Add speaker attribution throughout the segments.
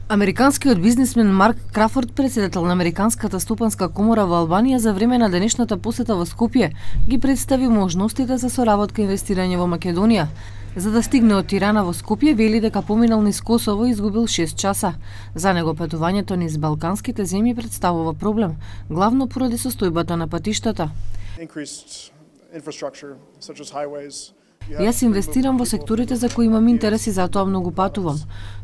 Speaker 1: Американскиот бизнисмен Марк Крафорд, председател на Американската стопанска комора во Албанија, за време на денешната посета во Скопје ги представи можностите за соработка и инвестирање во Македонија. За да стигне од Тирана во Скопје, вели дека поминал низ Косово и изгубил 6 часа. За него патувањето низ балканските земји представува проблем, главно поради состојбата на патиштата. Јас инвестирам во секторите за кои имам интерес и затоа многу патувам,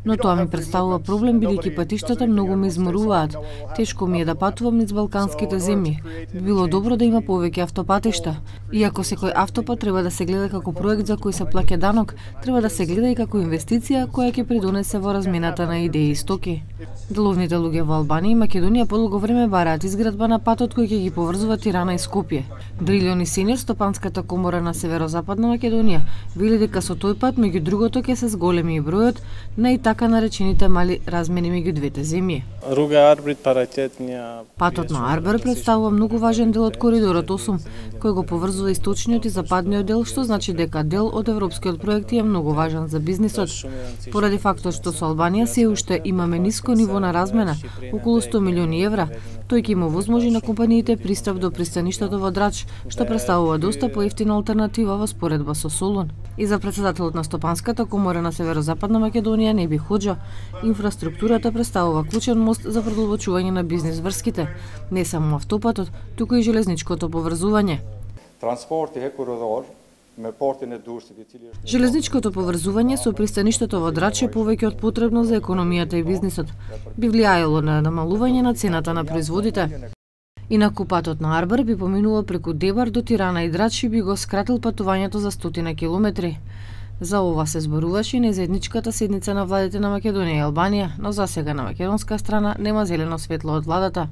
Speaker 1: но тоа ми представува проблем бидејќи патиштата многу ме изморуваат. Тешко ми е да патувам низ балканските земји. Би било добро да има повеќе автопатишта. Иако секој автопат треба да се гледа како проект за кој се плаќа данок, треба да се гледа и како инвестиција која ќе придонесе во размената на идеи и стоки. Деловните луѓе во Албанија и Македонија подолго време бараат изградба на патот кој ќе ги поврзува Тирана и Скопје. Дрилјон Сениор, стопанската комора на северозападна Македонија, вели дека со тој пат меѓу другото ќе се зголеми и бројот на и така наречените мали размени меѓу двете земји. Патот на Арбер представува многу важен дел од коридорот 8, кој го поврзува источниот и западниот дел, што значи дека дел од европскиот проект е многу важен за бизнисот. Поради фактот што со Албанија се уште имаме ниско ниво на размена, околу 100 милиони евра, тој ќе има возможи на компаниите пристап до пристаништето во Драч, што представува доста поевтина алтернатива во споредба со Солун. И за председателот на Стопанската комора на северозападна Македонија Неби Хоџа, инфраструктурата представува клучен мост за продолбочување на бизнис врските, не само автопатот, туку и железничкото поврзување. Железничкото поврзување со пристаништето во Драч е повеќе од потребно за економијата и бизнисот. Би влијаело на намалување на цената на производите. Инаку патот на Арбер би поминувал преку Дебар до Тирана и Драч и би го скратил патувањето за 100 километри. За ова се зборуваше на заедничката седница на владите на Македонија и Албанија, но засега на македонска страна нема зелено светло од владата.